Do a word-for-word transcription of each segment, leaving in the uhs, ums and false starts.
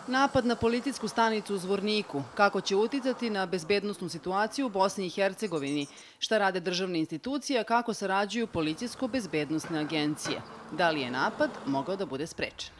Napad na policijsku stanicu u Zvorniku. Kako će uticati na bezbednosnu situaciju u Bosni i Hercegovini? Šta rade državne institucije, a kako sarađuju policijsko-bezbednosne agencije? Da li je napad mogao da bude sprečen?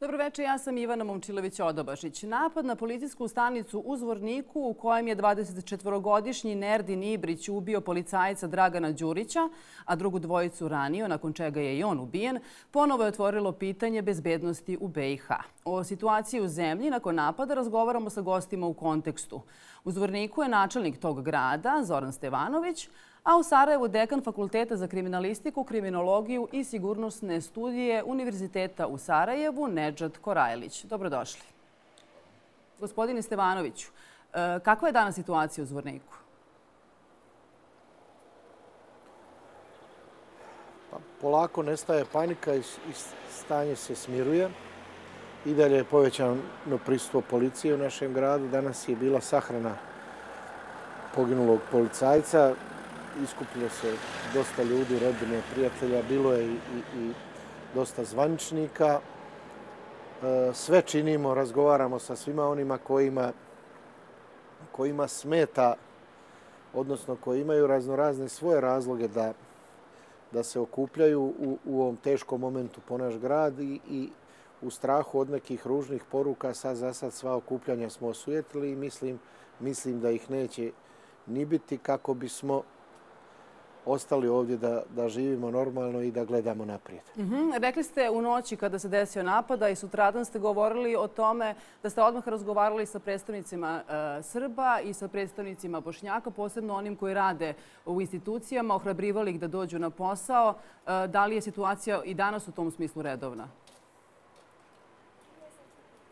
Dobroveče, ja sam Ivana Momčilović-Odobašić. Napad na policijsku stanicu u Zvorniku u kojem je dvadesetčetvorogodišnji Nerdin Ibrić ubio policajca Dragana Đurića, a drugu dvojicu ranio, nakon čega je i on ubijen, ponovo je otvorilo pitanje bezbednosti u be i ha. O situaciji u zemlji nakon napada razgovaramo sa gostima u kontekstu. U Zvorniku je načelnik tog grada, Zoran Stevanović, a u Sarajevu dekan Fakulteta za kriminalistiku, kriminologiju i sigurnosne studije Univerziteta u Sarajevu, Nedžad Korajlić. Dobrodošli. Gospodine Stevanoviću, kakva je danas situacija u Zvorniku? Pa, polako nestaje panika i stanje se smiruje. I dalje je povećano prisustvo policije u našem gradu. Danas je bila sahrana poginulog policajca. Iskupilo se dosta ljudi, rodbine, prijatelja, bilo je i, i, i dosta zvaničnika. E, sve činimo, razgovaramo sa svima onima kojima, kojima smeta, odnosno koji imaju raznorazne svoje razloge da, da se okupljaju u, u ovom teškom momentu po naš grad i, i u strahu od nekih ružnih poruka. Sad za sad sva okupljanja smo osujetili i mislim, mislim da ih neće ni biti kako bismo ostali ovdje da, da živimo normalno i da gledamo naprijed. Mm-hmm. Rekli ste u noći kada se desio napada i sutradan ste govorili o tome da ste odmah razgovarali sa predstavnicima e, Srba i sa predstavnicima Bošnjaka, posebno onim koji rade u institucijama, ohrabrivali ih da dođu na posao. E, da li je situacija i danas u tom smislu redovna?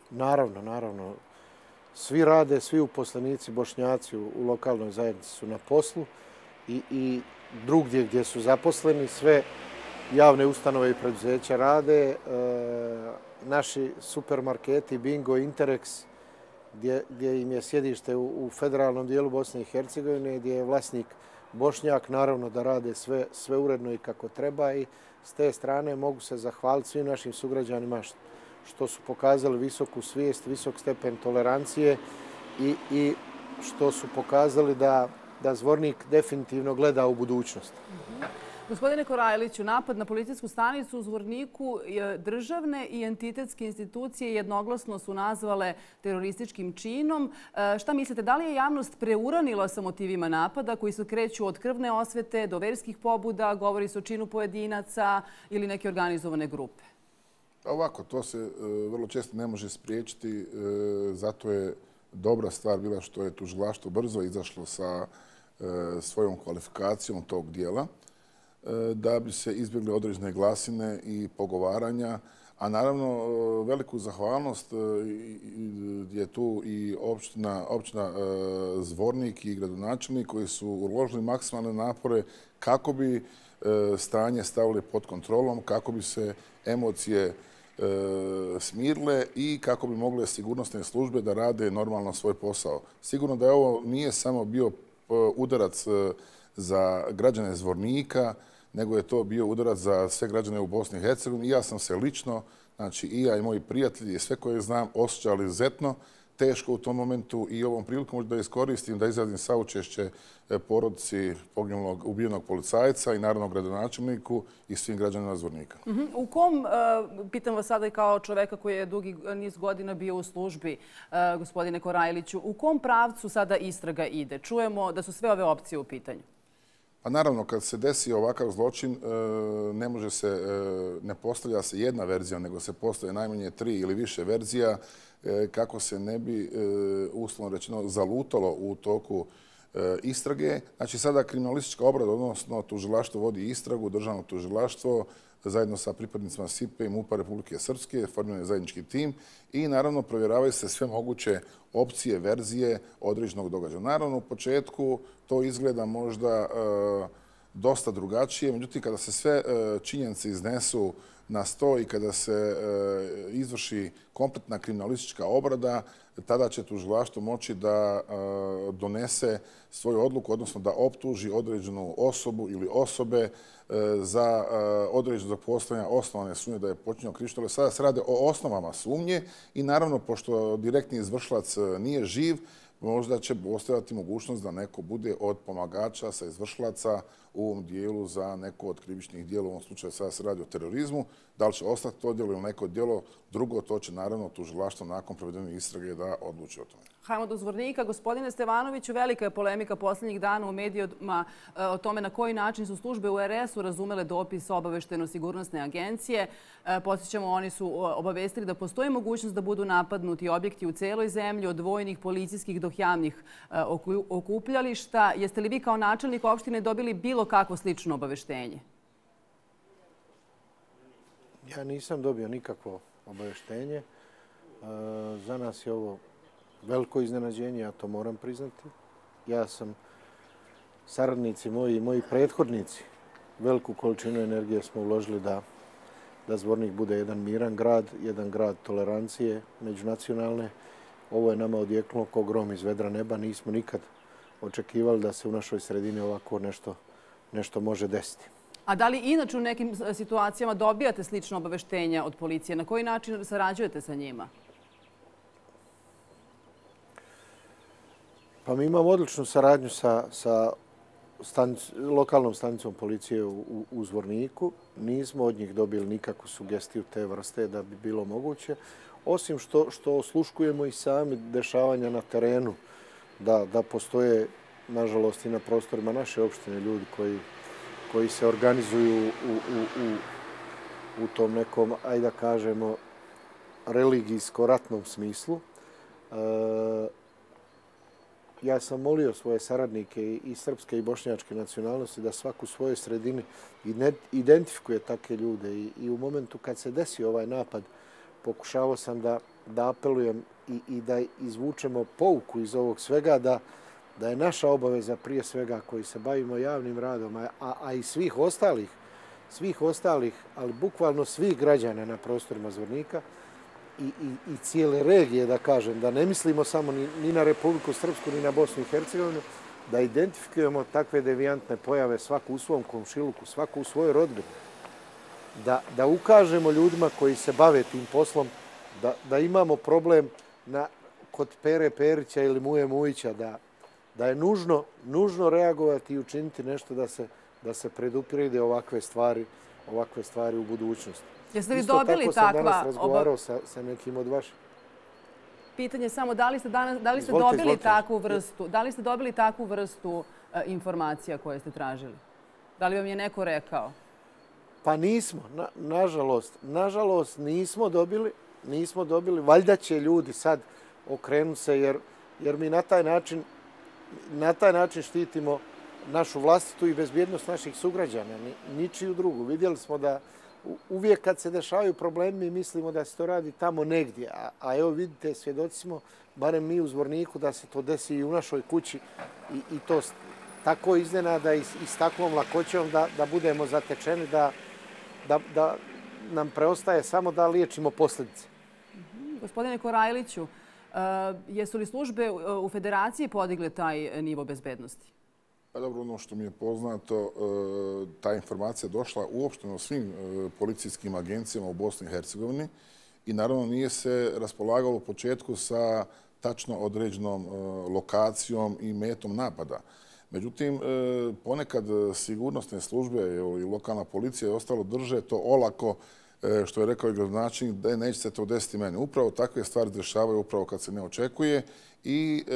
Naravno, naravno. Svi rade, svi uposlenici Bošnjaci u, u lokalnoj zajednici su na poslu i, i drugdje gdje su zaposleni, sve javne ustanove i preduzeća rade. E, naši supermarketi Bingo, Interex, gdje, gdje im je sjedište u, u federalnom dijelu Bosne i Hercegovine, gdje je vlasnik Bošnjak, naravno da rade sve, sve uredno i kako treba i s te strane mogu se zahvaliti svim našim sugrađanima što su pokazali visoku svijest, visok stepen tolerancije i, i što su pokazali da da Zvornik definitivno gleda u budućnost. Mm-hmm. Gospodine Korajliću, napad na policijsku stanicu u Zvorniku državne i entitetske institucije jednoglasno su nazvale terorističkim činom. E, šta mislite, da li je javnost preuranila sa motivima napada koji se kreću od krvne osvete do verskih pobuda, govori se o činu pojedinaca ili neke organizovane grupe? Ovako, to se e, vrlo često ne može spriječiti, e, zato je dobra stvar bila što je tužilaštvo brzo izašlo sa svojom kvalifikacijom tog dijela da bi se izbjegle određene glasine i pogovaranja. A naravno, veliku zahvalnost je tu i općina, općina Zvornik i gradonačelnik koji su uložili maksimalne napore kako bi stanje stavili pod kontrolom, kako bi se emocije smirile i kako bi mogle sigurnosne službe da rade normalno svoj posao. Sigurno da je ovo nije samo bio udarac za građane Zvornika, nego je to bio udarac za sve građane u Bosni i Hercegovini. I ja sam se lično, znači i ja i moji prijatelji i sve koje znam, osjećali izuzetno teško u tom momentu i ovom prilikom možda da iskoristim da izrazim saučešće porodici poginulog, ubijenog policajca i naravno gradonačelniku i svim građanima Zvornika. Mm-hmm. U kom, pitam vas sada i kao čoveka koji je dugi niz godina bio u službi, gospodine Korajliću, u kom pravcu sada istraga ide? Čujemo da su sve ove opcije u pitanju. Pa naravno, kad se desi ovakav zločin, ne može se, ne postavlja se jedna verzija, nego se postavlja najmanje tri ili više verzija kako se ne bi, uslovno rečeno, zalutalo u toku istrage. Znači, sada kriminalistička obrada, odnosno tužilaštvo vodi istragu, državno tužilaštvo, zajedno sa pripadnicima S I P-a i MUP-a Republike Srpske, formiran je zajednički tim i naravno provjeravaju se sve moguće opcije, verzije određenog događaja. Naravno, u početku to izgleda možda dosta drugačije. Međutim, kada se sve činjenice iznesu na sto i kada se izvrši kompletna kriminalistička obrada, tada će tužilaštvo moći da donese svoju odluku, odnosno da optuži određenu osobu ili osobe za određenog postojanja osnovane sumnje da je počinjeno krivično djelo. Sada se radi o osnovama sumnje i naravno, pošto direktni izvršilac nije živ, možda će postojati mogućnost da neko bude od pomagača sa izvršilaca u ovom dijelu za neko od krivičnih dijela. U ovom slučaju sada se radi o terorizmu. Da li će ostati to djelo ili neko djelo drugo, to će naravno tužilaštvo nakon provedene istrage da odluči o tome. Hajmo do Zvornika. Gospodine Stevanoviću, velika je polemika posljednjih dana u medijima o tome na koji način su službe u er es u razumele dopis Obaveštajno-sigurnosne agencije. Podsjećamo, oni su obavestili da postoji mogućnost da budu napadnuti objekti u celoj zemlji, od vojnih, policijskih do javnih okupljališta. Jeste li vi kao načelnik opštine dobili bilo kakvo slično obaveštenje? Ja nisam dobio nikakvo obaveštenje. Za nas je ovo veliko iznenađenje, ja to moram priznati. Ja sam, saradnici moji i moji prethodnici, veliku količinu energije smo uložili da, da Zvornik bude jedan miran grad, jedan grad tolerancije međunacionalne. Ovo je nama odjeknulo kao grom iz vedra neba. Nismo nikad očekivali da se u našoj sredini ovako nešto, nešto može desiti. A da li inače u nekim situacijama dobijate slično obaveštenja od policije? Na koji način sarađujete sa njima? Pa mi imamo odličnu saradnju sa, sa stanic, lokalnom stanicom policije u, u, u Zvorniku. Nismo od njih dobili nikakvu sugestiju te vrste da bi bilo moguće. Osim što, što osluškujemo i sami dešavanja na terenu, da, da postoje, nažalost, i na prostorima naše opštine ljudi koji, koji se organizuju u, u, u, u tom nekom, ajde da kažemo, religijsko-ratnom smislu. E, Ja sam molio svoje saradnike i srpske i bošnjačke nacionalnosti da svaku u svojoj sredini identifikuje takve ljude. I, i u momentu kad se desio ovaj napad, pokušavao sam da, da apelujem i, i da izvučemo pouku iz ovog svega, da, da je naša obaveza prije svega koji se bavimo javnim radom, a, a i svih ostalih, svih ostalih, ali bukvalno svih građana na prostorima Zvornika, I, i, i cijele regije, da kažem, da ne mislimo samo ni, ni na Republiku Srpsku, ni na Bosnu i Hercegovinu, da identifikujemo takve devijantne pojave svaku u svom komšiluku, svaku u svojoj rodbini. Da, da ukažemo ljudima koji se bave tim poslom da, da imamo problem na, kod Pere Perića ili Muje Mujića, da, da je nužno, nužno reagovati i učiniti nešto da se, da se predupirede ovakve stvari, ovakve stvari u budućnosti. Jeste vi dobili takva... Isto tako sam danas razgovarao sa, sa nekim od vaših. Pitanje samo da li ste, danas, da li ste izvolite, dobili izvolite. takvu vrstu, da li ste dobili takvu vrstu uh, informacija koje ste tražili? Da li vam je neko rekao? Pa nismo, na, nažalost. Nažalost nismo dobili, nismo dobili. Valjda će ljudi sad okrenuti se jer, jer mi na taj način, na taj način štitimo našu vlastitu i bezbjednost naših sugrađana, ni, ničiju drugu. Vidjeli smo da uvijek kad se dešavaju problemi, mi mislimo da se to radi tamo negdje. A, a evo vidite, svjedoci smo, barem mi u Zvorniku, da se to desi i u našoj kući i, i to tako iznenada i, i s takvom lakoćom da, da budemo zatečeni, da, da, da nam preostaje samo da liječimo posljedice. Mm-hmm. Gospodine Korajliću, uh, jesu li službe u Federaciji podigle taj nivo bezbednosti? Pa dobro, ono što mi je poznato, ta informacija došla uopšteno svim policijskim agencijama u Bosni i Hercegovini i naravno nije se raspolagalo u početku sa tačno određenom lokacijom i metom napada. Međutim, ponekad sigurnosne službe i lokalna policija i ostalo drže to olako, što je rekao i gradonačelnik, da neće se to desiti meni. Upravo takve stvari dešavaju upravo kad se ne očekuje i e,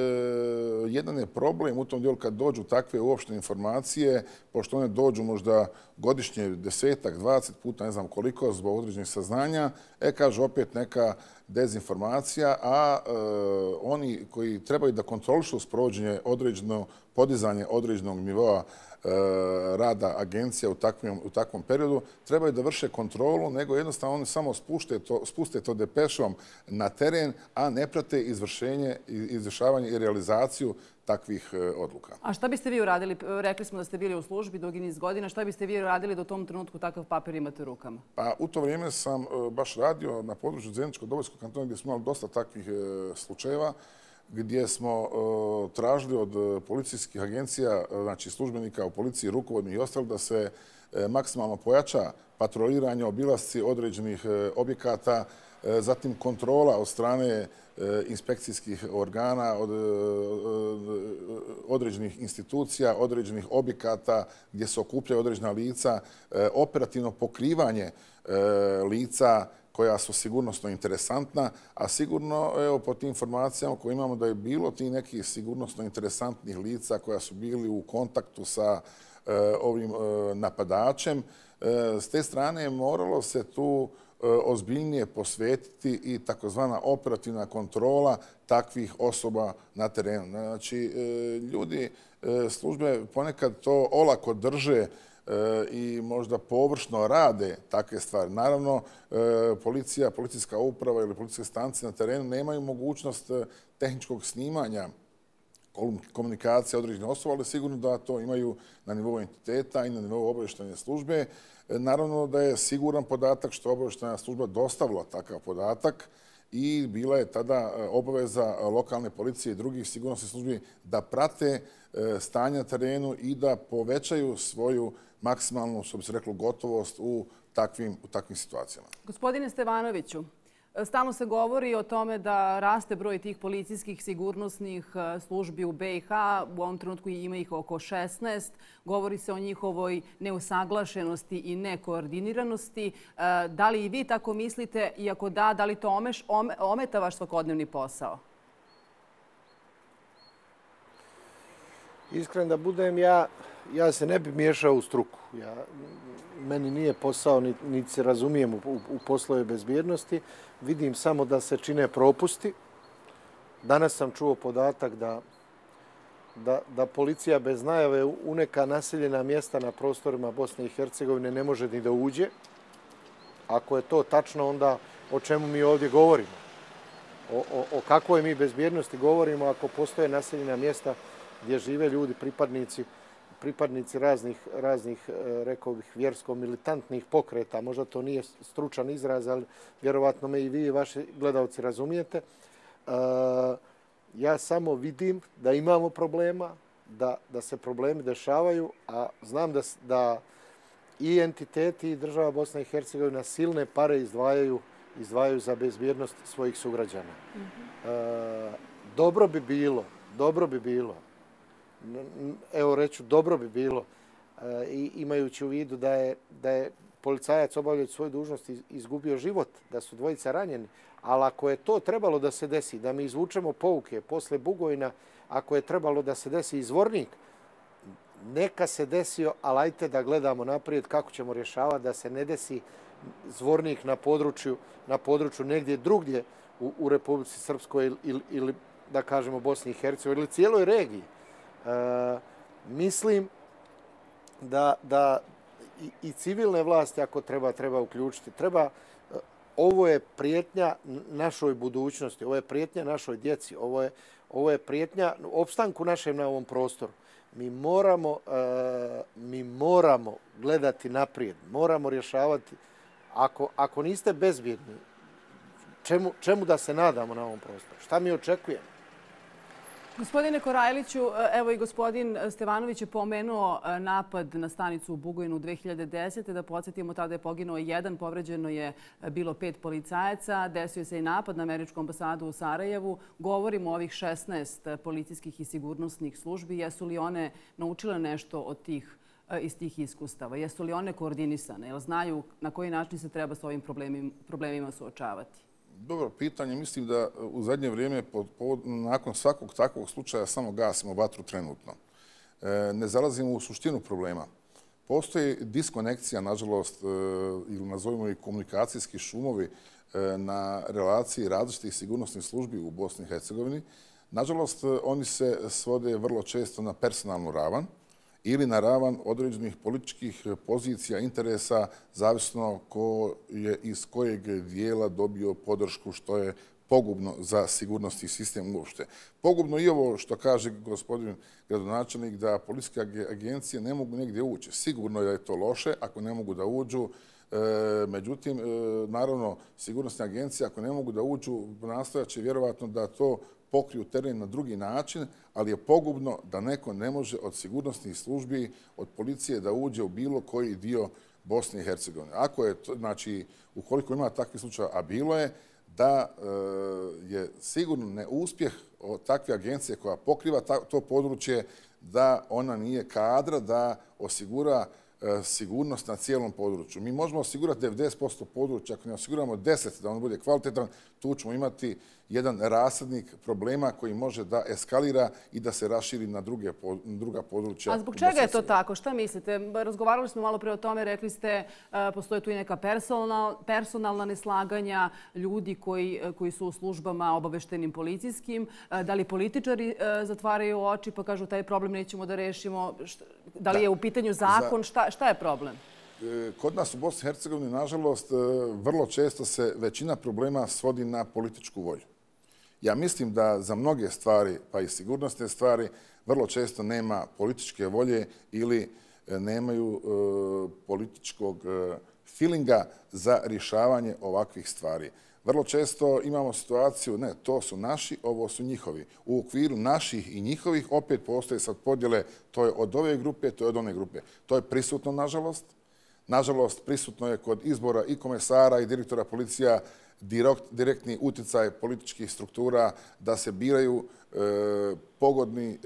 jedan je problem u tom dijelu kad dođu takve uopštene informacije, pošto one dođu možda godišnje desetak, dvadeset puta, ne znam koliko, zbog određenih saznanja, e, kaže opet neka dezinformacija, a e, oni koji trebaju da kontrolišu sprovođenje određeno, podizanje određenog nivoa rada agencija u takvom periodu, trebaju da vrše kontrolu, nego jednostavno oni samo spuste to depešom na teren, a ne prate izvršenje, izvršavanje i realizaciju takvih odluka. A šta biste vi uradili? Rekli smo da ste bili u službi dugi niz godina. Šta biste vi uradili da u tom trenutku takav papir imate u rukama? Pa u to vrijeme sam baš radio na području Zeničko-Dobojskog kantona gdje smo imali dosta takvih slučajeva, gdje smo tražili od policijskih agencija, znači službenika u policiji, rukovodnih i ostalih, da se maksimalno pojača patroliranje, obilasci određenih objekata, zatim kontrola od strane inspekcijskih organa, od određenih institucija, određenih objekata gdje se okupljaju određena lica, operativno pokrivanje lica koja su sigurnosno interesantna, a sigurno, evo, po tim informacijama koje imamo da je bilo ti nekih sigurnosno interesantnih lica koja su bili u kontaktu sa ovim napadačem. S te strane moralo se tu ozbiljnije posvetiti i takozvana operativna kontrola takvih osoba na terenu. Znači, ljudi, službe ponekad to olako drže i možda površno rade takve stvari. Naravno, policija, policijska uprava ili policijske stanice na terenu nemaju mogućnost tehničkog snimanja komunikacije određenih osoba, ali sigurno da to imaju na nivou entiteta i na nivou obavještajne službe. Naravno da je siguran podatak što je obavještajna služba dostavila takav podatak i bila je tada obaveza lokalne policije i drugih sigurnosnih službi da prate stanje na terenu i da povećaju svoju maksimalnu, što bi se reklo, gotovost u takvim, u takvim situacijama. Gospodine Stevanoviću, stalno se govori o tome da raste broj tih policijskih sigurnosnih službi u be i ha. U ovom trenutku ima ih oko šesnaest. Govori se o njihovoj neusaglašenosti i nekoordiniranosti. Da li i vi tako mislite? I ako da, da li to ometa vaš svakodnevni posao? Iskren da budem, ja, ja se ne bi miješao u struku. Ja, meni nije posao, niti se razumijem u, u poslove bezbjednosti. Vidim samo da se čine propusti. Danas sam čuo podatak da, da, da policija bez najave u neka naseljena mjesta na prostorima Bosne i Hercegovine ne može ni da uđe. Ako je to tačno, onda o čemu mi ovdje govorimo? O, o, o kakvoj mi bezbjednosti govorimo ako postoje naseljena mjesta gdje žive ljudi, pripadnici, pripadnici raznih, raznih, rekao bih, vjersko-militantnih pokreta. Možda to nije stručan izraz, ali vjerovatno me i vi i vaši gledalci razumijete. E, ja samo vidim da imamo problema, da, da se problemi dešavaju, a znam da, da i entiteti i država Bosna i Hercegovina silne pare izdvajaju, izdvajaju za bezbjednost svojih sugrađana. Mm-hmm. E, dobro bi bilo, dobro bi bilo, evo reću, dobro bi bilo, i imajući u vidu da je, da je policajac obavljajući svoju dužnost izgubio život, da su dvojica ranjeni. Ali ako je to trebalo da se desi, da mi izvučemo pouke posle Bugojna, ako je trebalo da se desi Zvornik, neka se desio, ali ajte da gledamo naprijed kako ćemo rješavati da se ne desi Zvornik na području, na području negdje drugdje u, u Republici Srpskoj ili, ili da kažemo Bosni i Hercegovini ili cijeloj regiji. E, mislim da, da i, i civilne vlasti, ako treba, treba uključiti. Treba, ovo je prijetnja našoj budućnosti, ovo je prijetnja našoj djeci, ovo je, ovo je prijetnja opstanku našem na ovom prostoru. Mi moramo, e, mi moramo gledati naprijed, moramo rješavati. Ako, ako niste bezbjedni, čemu, čemu da se nadamo na ovom prostoru? Šta mi očekujemo? Gospodine Korajliću, evo i gospodin Stevanović je pomenuo napad na stanicu u Bugojnu dve hiljade desete. Da podsjetimo, tada je poginuo jedan, povređeno je bilo pet policajaca. Desio se i napad na američku ambasadu u Sarajevu. Govorimo o ovih šesnaest policijskih i sigurnosnih službi. Jesu li one naučile nešto od tih, iz tih iskustava? Jesu li one koordinisane? Jel znaju na koji način se treba s ovim problemima, problemima suočavati? Dobro pitanje. Mislim da u zadnje vrijeme nakon svakog takvog slučaja samo gasimo vatru trenutno. Ne zalazimo u suštinu problema. Postoji diskonekcija, nažalost, ili nazovimo i komunikacijski šumovi na relaciji različitih sigurnosnih službi u Bosni i Hercegovini. Nažalost, oni se svode vrlo često na personalnu ravan ili na ravan određenih političkih pozicija, interesa, zavisno ko je iz kojeg dijela dobio podršku, što je pogubno za sigurnosni sistem uopšte. Pogubno i ovo što kaže gospodin gradonačelnik, da policijske agencije ne mogu negdje ući. Sigurno je da je to loše ako ne mogu da uđu. Međutim, naravno, sigurnosne agencije ako ne mogu da uđu, nastojat će vjerovatno da to pokriju teren na drugi način, ali je pogubno da neko ne može od sigurnosnih službi, od policije da uđe u bilo koji dio Bosne i Hercegovine. Ako je to, znači, ukoliko ima takvih slučaja, a bilo je, da je sigurno neuspjeh takve agencije koja pokriva to područje, da ona nije kadra da osigura sigurnost na cijelom području. Mi možemo osigurati devedeset posto područja, ako ne osiguramo deset da on bude kvalitetan, tu ćemo imati jedan rasadnik problema koji može da eskalira i da se raširi na druge, druga područja. A zbog čega je to tako? Šta mislite? Razgovarali smo malo pre o tome, rekli ste postoje tu i neka personal, personalna neslaganja ljudi koji, koji su u službama obaveštenim policijskim. Da li političari zatvaraju oči pa kažu taj problem nećemo da rešimo? Da li je u pitanju zakon? Šta, šta je problem? Kod nas u Bosni i Hercegovini, nažalost, vrlo često se većina problema svodi na političku volju. Ja mislim da za mnoge stvari, pa i sigurnosne stvari, vrlo često nema političke volje ili nemaju političkog feelinga za rješavanje ovakvih stvari. Vrlo često imamo situaciju, ne, to su naši, ovo su njihovi. U okviru naših i njihovih opet postoje sad podjele, to je od ove grupe, to je od one grupe. To je prisutno, nažalost. Nažalost, prisutno je kod izbora i komesara i direktora policija direktni utjecaj političkih struktura da se biraju pogodni,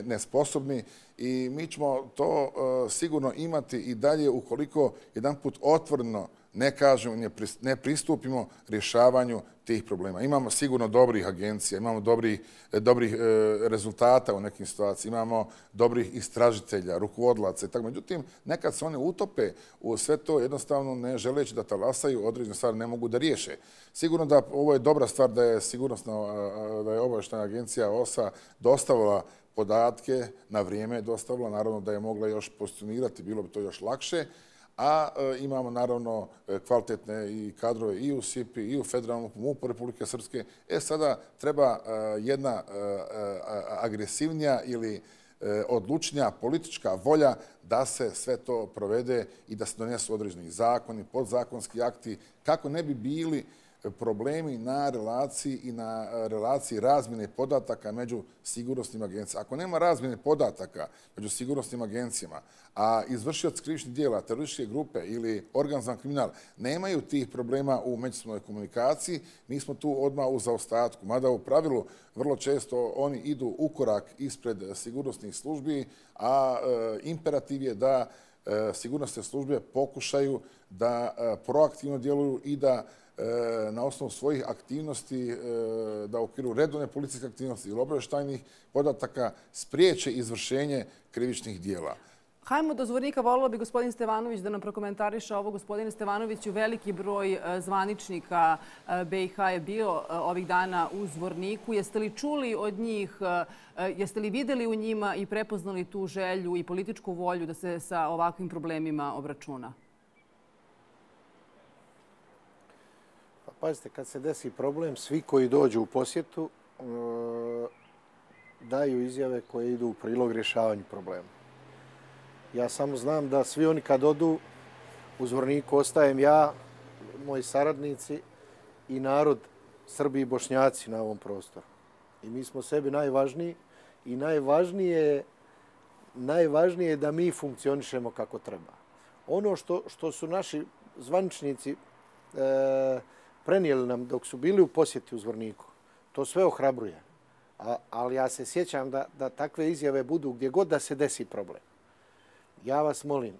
nesposobni i mi ćemo to sigurno imati i dalje ukoliko jedanput otvoreno ne kažemo, ne pristupimo rješavanju tih problema. Imamo sigurno dobrih agencija, imamo dobrih, dobrih rezultata u nekim situacijama, imamo dobrih istražitelja, rukovodlaca i tako. Međutim, nekad se one utope u sve to jednostavno ne želeći da talasaju, određene stvari ne mogu da riješe. Sigurno da ovo je dobra stvar da je sigurnosna, da je obavještajna agencija O S A dostavila podatke, na vrijeme je dostavila, naravno da je mogla još pozicionirati, bilo bi to još lakše, a imamo naravno kvalitetne i kadrove i u S I P I i u Federalnom M U P-u Republike Srpske. E sada treba jedna agresivnija ili odlučnija politička volja da se sve to provede i da se donesu određeni zakoni, podzakonski akti, kako ne bi bili problemi na relaciji i na relaciji razmjene podataka među sigurnosnim agencijama. Ako nema razmjene podataka među sigurnosnim agencijama, a izvršioci krivičnih djela, terorističke grupe ili organizovan kriminal nemaju tih problema u međusobnoj komunikaciji, mi smo tu odmah u zaostatku. Mada u pravilu vrlo često oni idu u korak ispred sigurnosnih službi, a imperativ je da sigurnosne službe pokušaju da proaktivno djeluju i da na osnovu svojih aktivnosti, da u okviru redovne policijske aktivnosti ili obavještajnih podataka spriječe izvršenje krivičnih dijela. Hajmo do zvornika. Volila bi gospodin Stevanović da nam prokomentariše ovo. Gospodine Stevanoviću, veliki broj zvaničnika B i H je bio ovih dana u zvorniku. Jeste li čuli od njih, jeste li vidjeli u njima i prepoznali tu želju i političku volju da se sa ovakvim problemima obračuna? Pazite, kad se desi problem, svi koji dođu u posjetu daju izjave koje idu u prilog rješavanju problema. Ja samo znam da svi oni kad odu u zvorniku ostajem ja, moji saradnici i narod Srbi i Bošnjaci na ovom prostoru. I mi smo sebi najvažniji i najvažnije, najvažnije je da mi funkcionišemo kako treba. Ono što, što su naši zvaničnici e, prenijeli nam dok su bili u posjeti u zvorniku, to sve ohrabruje. A, ali ja se sjećam da, da takve izjave budu gdje god da se desi problem. Ja vas molim, e,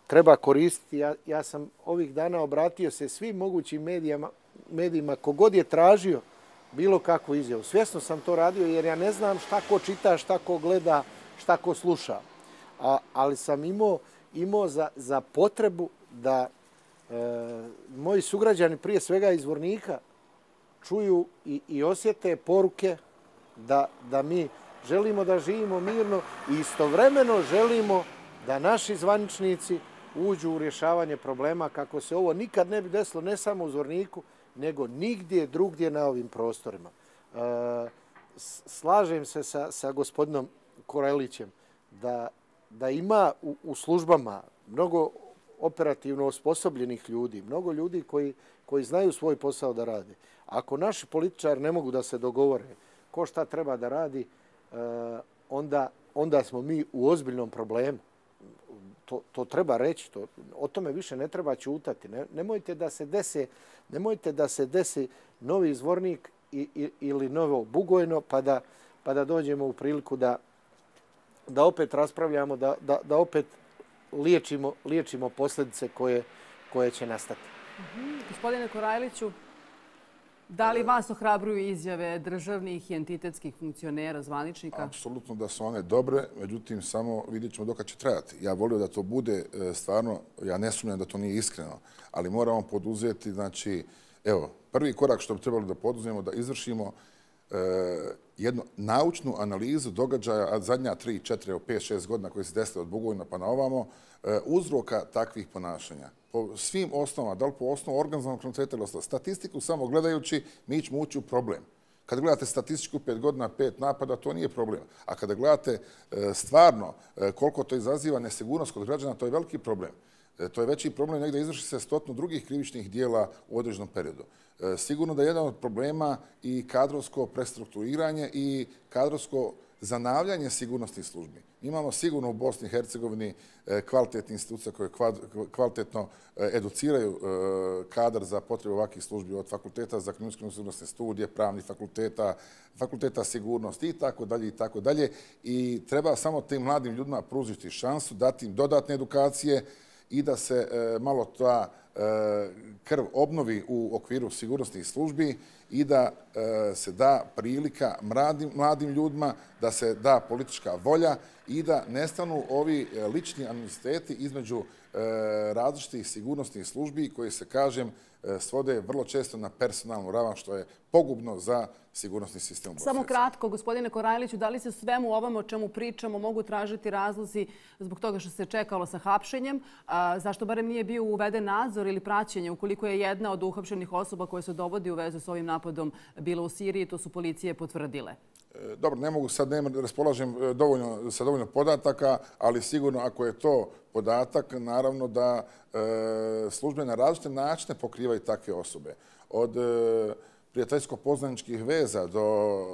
treba koristiti. Ja, ja sam ovih dana obratio se svim mogućim medijama, medijima kogod je tražio bilo kakvu izjavu. Svjesno sam to radio jer ja ne znam šta ko čita, šta ko gleda, šta ko sluša. A, ali sam imao, imao za, za potrebu da e, moji sugrađani prije svega iz Zvornika čuju i, i osjete poruke da, da mi želimo da živimo mirno i istovremeno želimo da naši zvaničnici uđu u rješavanje problema kako se ovo nikad ne bi desilo ne samo u Zvorniku, nego nigdje drugdje na ovim prostorima. Slažem se sa, sa gospodinom Korelićem da, da ima u, u službama mnogo operativno osposobljenih ljudi, mnogo ljudi koji, koji znaju svoj posao da rade. Ako naši političari ne mogu da se dogovore ko šta treba da radi, onda, onda smo mi u ozbiljnom problemu. To, to treba reći, to, o tome više ne treba ćutati. Ne, nemojte da se desi, nemojte da se desi novi Zvornik i, i, ili novo Bugojno, pa da, pa da dođemo u priliku da, da opet raspravljamo, da, da, da opet liječimo, liječimo posljedice koje, koje će nastati. Mm-hmm. Gospodine Korajliću, da li vas ohrabruju izjave državnih i entitetskih funkcionera, zvaničnika? Apsolutno da su one dobre, međutim samo vidjet ćemo dokad će trajati. Ja volio da to bude stvarno, ja ne sumnjam da to nije iskreno, ali moramo poduzeti, znači, evo, prvi korak što bi trebalo da poduzmemo, da izvršimo e, jednu naučnu analizu događaja, a zadnja tri, četiri, pet, šest godina koji se desile od Bugojna pa na ovamo, e, uzroka takvih ponašanja. Po svim osnovama, da li po osnovu organizovanog kriminaliteta ili ostalo. Statistiku samo gledajući, mi ćemo ući u problem. Kad gledate statistiku pet godina, pet napada, to nije problem. A kada gledate e, stvarno e, koliko to izaziva nesigurnost kod građana, to je veliki problem. E, to je veći problem negdje izvrši se stotinu drugih krivičnih dijela u određenom periodu. E, sigurno da je jedan od problema i kadrovsko prestrukturiranje i kadrovsko zanavljanje sigurnosnih službi. Imamo sigurno u Bosni i Hercegovini kvalitetne institucije koje kvalitetno educiraju kadar za potrebe ovakvih službi od fakulteta za kriminalističke sigurnosne studije, pravnih fakulteta, fakulteta sigurnosti i tako dalje i tako dalje. I treba samo tim mladim ljudima pružiti šansu, dati im dodatne edukacije i da se malo ta krv obnovi u okviru sigurnosnih službi i da se da prilika mladim, mladim ljudima, da se da politička volja i da nestanu ovi lični animoziteti između različitih sigurnosnih službi koji se, kažem, svode vrlo često na personalnu ravan, što je pogubno za sigurnosni sistem u Bosni. Samo kratko, gospodine Korajliću, da li se svemu ovome o čemu pričamo mogu tražiti razlozi zbog toga što se čekalo sa hapšenjem? A, zašto barem nije bio uveden nadzor ili praćenje ukoliko je jedna od uhapšenih osoba koja se dovodi u vezu s ovim napadom bila u Siriji, to su policije potvrdile? Dobro, ne mogu sad, ne raspolažem dovoljno, sa dovoljno podataka, ali sigurno ako je to podatak, naravno da e, službe na različite načine pokrivaju takve osobe. Od e, prijateljsko-poznaničkih veza do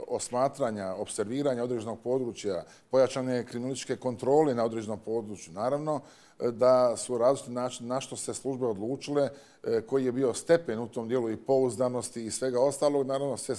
osmatranja, observiranja određenog područja, pojačane kriminalističke kontrole na određenom području. Naravno da su različiti načini na što se službe odlučile, koji je bio stepen u tom dijelu i pouzdanosti i svega ostalog. Naravno, sve,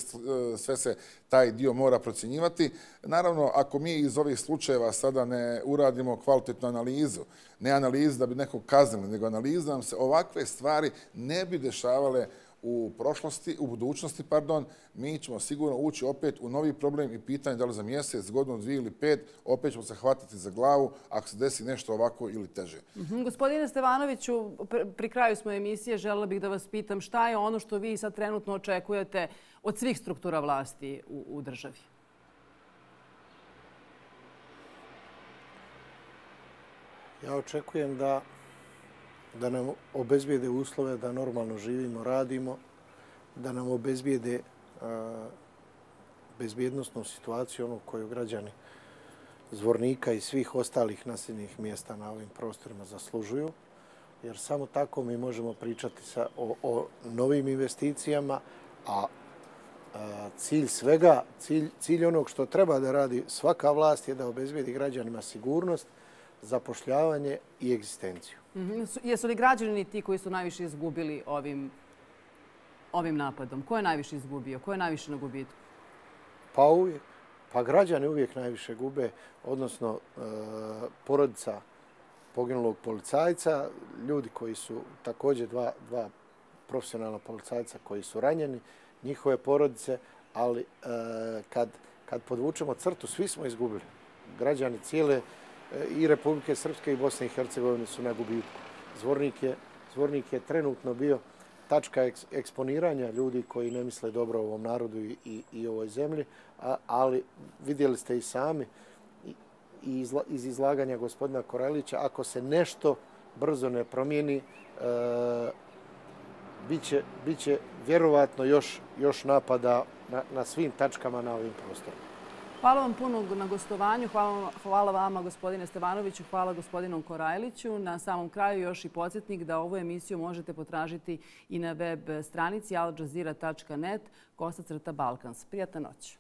sve se taj dio mora procjenjivati. Naravno, ako mi iz ovih slučajeva sada ne uradimo kvalitetnu analizu, ne analizu da bi nekog kaznili, nego analizu da nam se ovakve stvari ne bi dešavale u prošlosti, u budućnosti, pardon, mi ćemo sigurno ući opet u novi problem i pitanje da li za mjesec, godinu, dvije ili pet, opet ćemo se hvatiti za glavu ako se desi nešto ovako ili teže. Mm-hmm. Gospodine Stevanoviću, pri kraju smo emisije, želela bih da vas pitam šta je ono što vi sad trenutno očekujete od svih struktura vlasti u, u državi? Ja očekujem da da nam obezbijede uslove da normalno živimo, radimo, da nam obezbijede a, bezbjednostnu situaciju, ono koju građani Zvornika i svih ostalih naseljenih mjesta na ovim prostorima zaslužuju, jer samo tako mi možemo pričati sa, o, o novim investicijama, a, a cilj svega, cilj, cilj onog što treba da radi svaka vlast je da obezbijedi građanima sigurnost, zapošljavanje i egzistenciju. Mm-hmm. Jesu li građani ti koji su najviše izgubili ovim, ovim napadom? Ko je najviše izgubio? Ko je najviše na gubitku? Pa uvijek. Pa građani uvijek najviše gube, odnosno e, porodica poginulog policajca, ljudi koji su također dva, dva profesionalna policajca koji su ranjeni, njihove porodice, ali e, kad, kad podvučemo crtu, svi smo izgubili. Građani cijele i Republike Srpske i Bosne i Hercegovine su na gubitku. Zvornik je, Zvornik je trenutno bio tačka eksponiranja ljudi koji ne misle dobro ovom narodu i ovoj zemlji, ali vidjeli ste i sami iz izlaganja gospodina Korajlića, ako se nešto brzo ne promijeni, bit će vjerovatno još napada na svim tačkama na ovim prostorima. Hvala vam puno na gostovanju. Hvala vama, gospodine Stevanoviću. Hvala gospodinu Korajliću. Na samom kraju još i podsjetnik da ovu emisiju možete potražiti i na web stranici al jazeera tačka net kosa crta balkans. Prijatna noć.